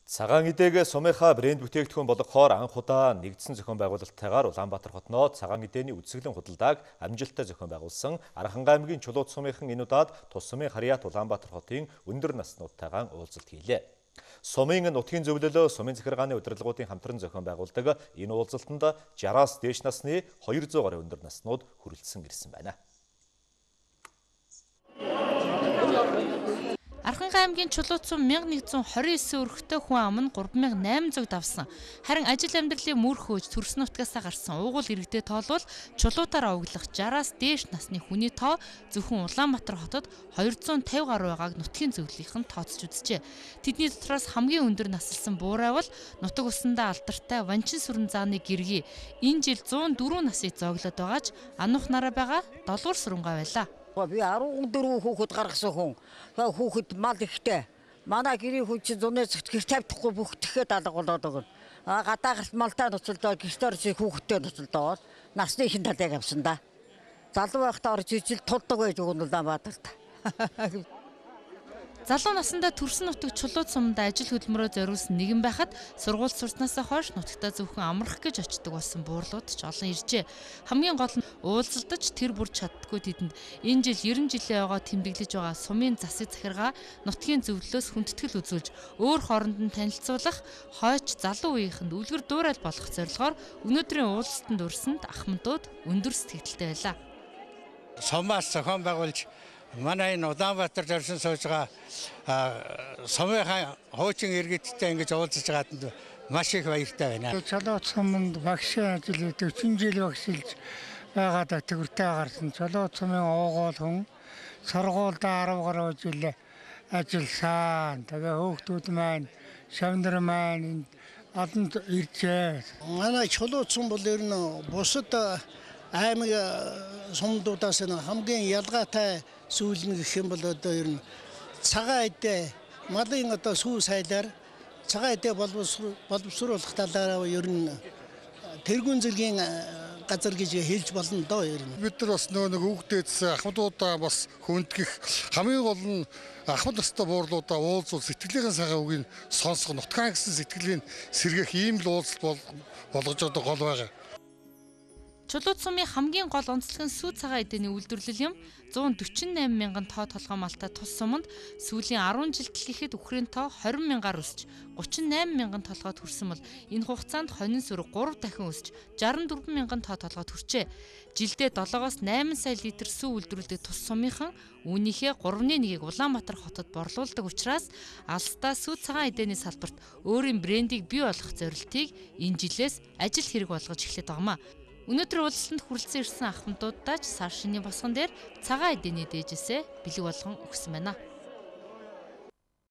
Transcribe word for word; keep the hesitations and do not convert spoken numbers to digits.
Цагаан эдээг сумынхаа брэнд бүтээгдэхүүн болгохоор анх удаа нэгдсэн зохион байгуулалттайгаар Улаанбаатар хотноо цагаан эдээний үзэсгэлэн худалдааг амжилттай зохион байгуулсан Аранханга аймгийн Чулууд сумынхан энэ удаад тус сумын Харьяат Улаанбаатар хотын өндөр наснуудтайгаан уулзалт хийлээ. Сумын нутгийн зөвлөлөө сумын захиргааны удирдлагуудын хамтран зохион байгуулдаг энэ уулзалтанд жараас дээш насны хоёр зуун гаруй өндөр наснууд хүрэлцэн ирсэн байна. Аранханга аймгийн Чулууд сум мянга нэгдүгээр хорин девять өрхтэй хүн ам нь гурван мянга найман зуун давсан. Харин ажил амьдралын мөр хөөж төрсөн нутгаасаа гарсан уугуул иргэдэд тоолвол чулуутаар овоглох жараас дээш насны хүний тоо зөвхөн Улаанбаатар хотод хоёр зуун тавин гаруй байгааг нутгийн зөвлөлийнхэн тооцож үзжээ. Тэдний дотроос хамгийн өндөр наслсан буурайвал нутаг усандаа алдартай Ванчин сүрэн зааны гэргий энэ жил зуун дөрвөн насыг зооглоод байгаач анух нараа байгаа долгуур сүрэнгаа байлаа. Би арван дөрвөн хүүхэд гаргасан хүн. Хүүхэд мал ихтэй. Манай гэрийн хүн чинь зуны цагт гэр тавьдахгүй бүгдэхээ даалга болоод өгнө. А гадаагт малтай ноцолдоо гэртээр чи хүүхэдтэй ноцолдоод насны ихэнх талыг авсан да. Залуу байхдаа орж ижил тулдаг байж өгнө Улаанбаатарт. Залуу насндаа төрсөн нутаг Чулууд суманд ажил хөдөлмөрөөр зориулсан нэгэн байхад сургууль сурснаасаа хойш нутагтаа зөвхөн амрах гэж очдог болсон буурлууд ч олон иржээ. Хамгийн гол нь уулзалдаж тэр бүр чаддгүй тэдэнд энэ жил найман жилийн ойгоо тэмдэглэж байгаа сумын засаг захиргаа нутгийн зөвлөлөөс хүндэтгэл үзүүлж өөр хооронд нь танилцуулах хойч залуу үеийнхэнд үлгэр дуурайл болох зорилгоор өнөөдрийн уулзалтанд өрсөнд ахмадууд өндөр сэтгэлтэй байлаа. Сумаас зохион байгуулж манай энэ Улаанбаатар зорьсон сууж байгаа сумынхаа хуучин иргэдтэй ингэж уулзаж байгаад маш их баяртай байна. Чулууд суманд багшийн ажил дөрвөн жил багшилж байгаад төгөртэй гарсан. Чулууд сумын уугуул хүн сургуульд арав гаруй жил ажилласан. Тэгээ хүүхдүүд маань, шавнар маань олонд иржээ. Манай Чулууд сум бол ер нь бусад аймаг сумдуудаас хамгийн ялгаатай сүүл нь гэх юм бол одоо ер нь цагаан эдээ малын одоо сүү сайлаар цагаан эдээ боловсруулах талаараа ер нь тэргүүн зэргийн газар гэж хэлж болно доо ер нь. Бид нар бас нөгөө нэг хүүхдээс ахмадуудаа бас хүндгэх хамгийн гол нь ахмад настай буурлуудаа уулзуул сэтгэлийнхэн сайхан үгийг сонсох нутгаан гэсэн сэтгэлийн сэргээх ийм л уулзалт болгож одоо гол байгаа. Чулууд сумын хамгийн гол онцлог нь сүү цагаан эдээний үйлдвэрлэл юм. зуун дөрвөн найман мянган тоо толгой малтай тус суманд сүүлийн арван жилд хэлэхэд үхрийн тоо хорин мянгаар өсч гучин найман мянган толгойд хүрсэн бол энэ хугацаанд хонин сүрэг гурав дахин өсч шестдесет дөрвөн мянган тоо толгойд хүрчээ. Жилдээ долоогоос найман сая литр сүү үйлдвэрлэдэг тус сумынхан үүнийхээ гуравны нэгийг Улаанбаатар хотод борлуулдаг учраас алстаа сүү цагаан эдээний салбарт өөрийн брендийг бий болгох зорилтыг энэ жилээс ажил хэрэг болгож эхлэх байгаамаа. Өнөөдөр уулзалтанд хүрэлцэн ирсэн ахмадуудаа ч сар шинийн босгон дээр цагаан эдээний дээжээсээ бэлэг болгон өгсөн байна.